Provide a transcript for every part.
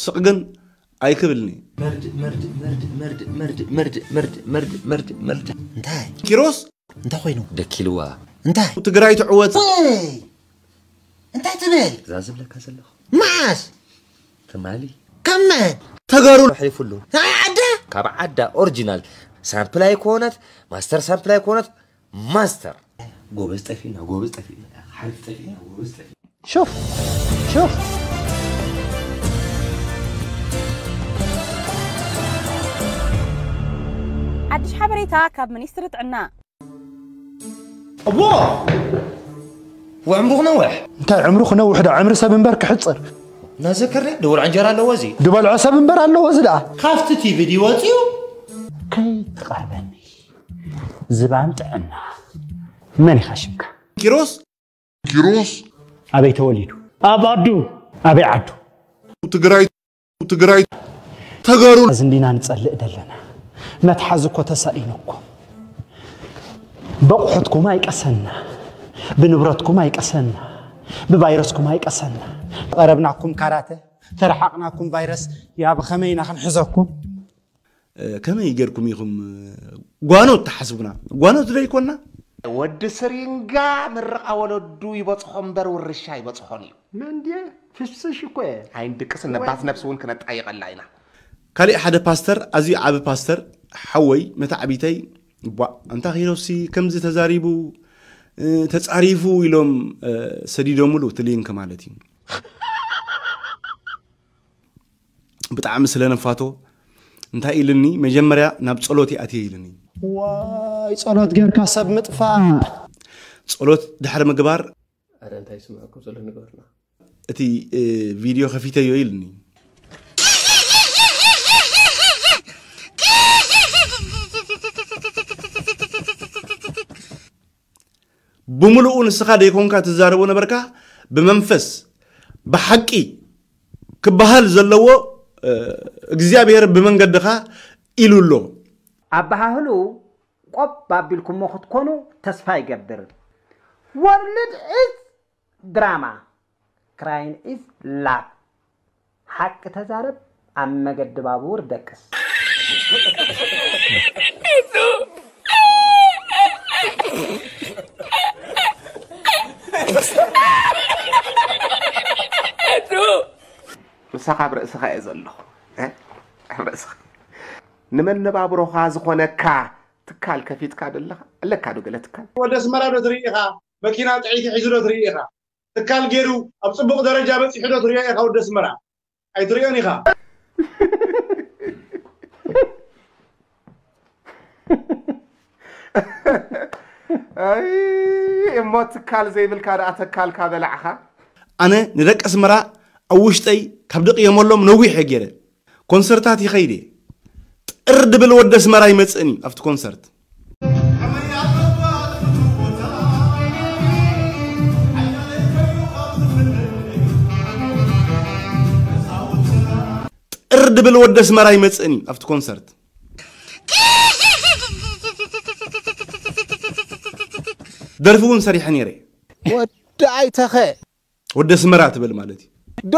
ስቕ ግን ኣይክብልኒ። መርድ መርድ መርድ መርድ መርድ መርድ መርድ መርድ መርድ መርድ መርድ እንታይ ኪሮስ እንታይ ኮይኑ ደኪልዋ እንታይ ትግራይ ትዕወት። ወይ እንታይ ትብል እዛ ዝብለካ ዘለኹ መዓስ ትማሊ ከመን ተጋሩ ኣሕሊፉሉ ናይ ዓዳ ካብ ዓዳ ኦሪጂናል ሳምፕል ኣይኮነት ማስተር ሳምፕል ኣይኮነት ማስተር ጎበዝ ጠፊና ጎበዝ ጠፊና ሓሪፍ ጠፊና ጎበዝ ጠፊና شوف شوف ሓድሽ ሓበሬታ ካብ ሚኒስትሪ ጥዕና። እሞ ወዕምሩ ክነውሕ እንታይ ዕምሩ ክነውሕ ዳ ዕምሪ ሰብ እምበር ክሕፅር እናዘከርኒ ድቡል ዕንጀራ ኣለዎ እዚ ድበልዖ ሰብ እምበር ኣለዎ እዚ ደኣ ካብቲ ቲቪ ድዩ ወፂኡ ከይትቐርበኒ ዝባን ጥዕና መን ኢኻ ሽምካ ኪሮስ ኪሮስ ኣበይ ተወሊዱ ኣብ ኣዱ ኣበይ ዓዱ ትግራይ ትግራይ ተጋሩ እዚ እንዲና ንጸልእ ደለና መትሓዚ እኮ ተሳኢኑኩም በቑሑትኩም ኣይቀሰና ብንብረትኩም ኣይቀሰና ብቫይረስኩም ኣይቀሰና ቀረብናኩም ካራተ ተረሓቕናኩም ቫይረስ ያ ብኸመይ ኢና ክንሕዘኩም ከመይ ገርኩም ኢኹም ጓኖት ትሓስቡና ጓኖት ዶ ይኮና ወዲ ስሪንጋ ምርቓ ወለዱ ይበፅሖ እምበር ውርሻ ይበፅሖን እዩ መንድየ ፍሽሽ እኮ እየ ኣይንድቅስ ነባት ነብሲ እውን ክነጣይቐላ ኢና ካሊእ ሓደ ፓስተር ኣዝዩ ዓቢ ፓስተር ሓወይ መታዕቢተይ ቧ ኣንታ ኪሮሲ ከምዚ ተዛሪቡ ተጻሪፉ ኢሎም ሰዲዶምሉ እቲ ሊንክ ማለት እዩ ብጣዕሚ ስለ ነፋቶ እንታይ ኢልኒ መጀመርያ ናብ ጸሎት ይኣትየ ኢልኒ ዋይ ጸሎት ጌርካ ሰብ ምጥፋእ ጸሎት ድሕሪ ምግባር ኣረ እንታይ ይስምዐኩም ዘሎ ንገርና እቲ ቪድዮ ከፊተዮ ኢልኒ ብምሉኡ ንስኻ ደይኮንካ ትዛረቦ ነበርካ ብመንፈስ ብሓቂ ክበሃል ዘለዎ እግዚኣብሔር ብመንገድኻ ኢሉ ኣሎ ኣበሃህሉ ቆብ ኣቢልኩሞ ክትኮኑ ተስፋ ይገብር። World is drama, crying is love. ሓቂ ተዛረብ ኣብ መገዲ ባቡር ደቅስ። ምሳኻ ኣብ ርእስኻ እየ ዘለኹ ኣብ ርእስኻ ንመነባብሮኻ ዝኾነካ ትካል ከፊትካ ደለኻ ኣለካ ዶ ገለ ትካል ወደ ኣስመራ ዶ ትርኢ ኢኻ መኪና ጥዒቲ ሒዙ ዶ ትርኢ ኢኻ ትካል ገይሩ ኣብ ፅቡቕ ደረጃ በፂሑ ዶ ትሪኦ ኢኻ ወደ ኣስመራ ኣይትሪኦን ኢኻ ኣይ እሞ ትካል ዘይብልካ ደኣ ተካልካ በላዕኻ ኣነ ንደቂ ኣስመራ ኣብ ውሽጠይ ካብ ደቕየመሎም ነዊሕ እየ ገይረ ኮንሰርታት ይኸይድ እየ ጥር ድብል ወዲ ኣስመራ ይመፅእን እዩ ኣብቲ ኮንሰርት ጥር ድብል ወዲ ኣስመራ ይመፅእን እዩ ኣብቲ ኮንሰርት ደርፊ እውን ሰሪሐ ነይረ ወዲ ኣይተኸ ወዲ ኣስመራ ትብል ማለት እዩ ዶ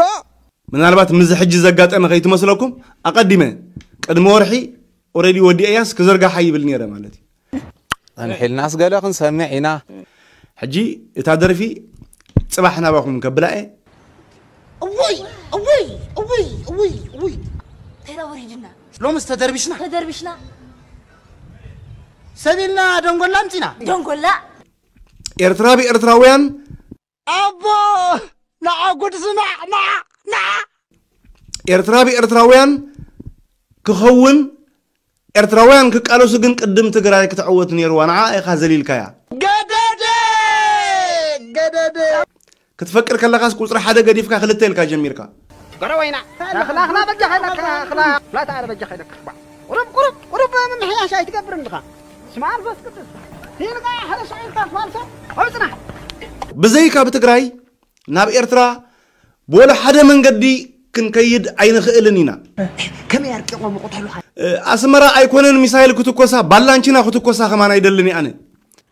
ምናልባት ምዚ ሕጂ ዘጋጠመ ከይትመስለኩም ኣቐዲመ ቅድሚ ወርሒ ኦረዲ ወዲ እያስ ክዝርጋሓ ይብል ነይረ ማለት እዩ ኣንሒልናስ ገለ ክንሰምዕ ኢና ሕጂ እታ ደርፊ ፅባሕ ናባኹም ከብላ እየ እውይ እውይ እውይ እውይ እውይ ተራ ወሪድና ሎምስ ተደርቢሽና ተደርቢሽና ሰቢልና ደንጎላ ኣምፂና ደንጎላ ኤርትራ ብኤርትራውያን ኣቦ ንዓ ጉድ ስማዕ ንዓ ንዓ ኤርትራ ብኤርትራውያን ክኸውን ኤርትራውያን ክቃለሱ ግን ቅድም ትግራይ ክትዕወት ነይርዋ ንዓ ኢኻ ዘሊልካያ ገደደ ገደደ ክትፈቅር ከለኻስ ቁፅሪ ሓደ ገዲፍካ ክልተ ኢልካ ጀሚርካ ገረወይና ላኽላኽላ በጃ ከይለካ ላታ ኣረ በጃ ከይለካ ቁሩብ ቁሩብ ቁሩብ ምምሕያሽ ኣይትገብርን ድኻ ስማር ፈስ ቅዱስ ሂልካ ሓደ ሰው ኢልካ ፋልሶ ኣውፅና ብዘይካ ብትግራይ ናብ ኤርትራ ብወላ ሓደ መንገዲ ክንከይድ ኣይንኽእልን ኢና። ከመይ ኣርቂቖም ይቕተሉኻ? ኣስመራ ኣይኮነን ሚሳይል ክትኮሳ ባላንቺና ክትኮሳ ከማን ኣይደልን ኣነ።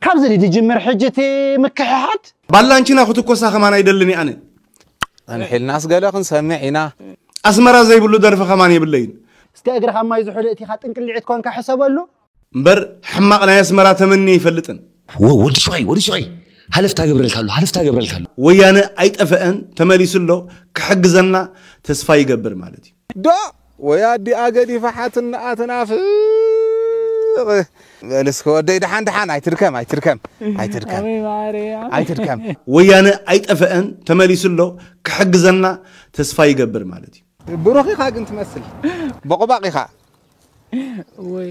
ካብዚ ድጅምር ሕጂ እቲ ምክሕሓድ። ባላንቺና ክትኮሳ ከማን ኣይደልን ኣነ። ኣንሒልናስ ገለ ክንሰምዕ ኢና። ኣስመራ ዘይብሉ ደርፊ ከማን የብለይን። እስከ እግርኻ ማይ ዝሑል እቲኻ ጥንቅልዒት ኮንካ ሕሰበሉ። እምበር ሕማቕ ናይ ኣስመራ ተመኒ ኣይፈልጥን። ወዲ ሹቐይ፣ ወዲ ሹቐይ፣ ሃለፍታ ገብረልካ ኣሎ፣ ሃለፍታ ገብረልካ ኣሎ። ወያነ ኣይጠፈአን፣ ተመሊሱ ኣሎ። ክሕግዘና ተስፋ ይገብር ማለት እዩ። ዶ ወይ ኣዲኣ ገዲፋ ሓትንኣ ትናፍቕ። በል እስከ ወደይ፣ ደሓን ደሓን፣ ኣይትድከም፣ ኣይትድከም፣ ኣይትድከም፣ ወይ ማርያ ኣይትድከም። ወያነ ኣይጠፈአን፣ ተመሊሱ ኣሎ። ክሕግዘና ተስፋ ይገብር ማለት እዩ። ብሩኽ ኢኻ ግን ትመስል፣ በቑባቕ ኢኻ። ወይ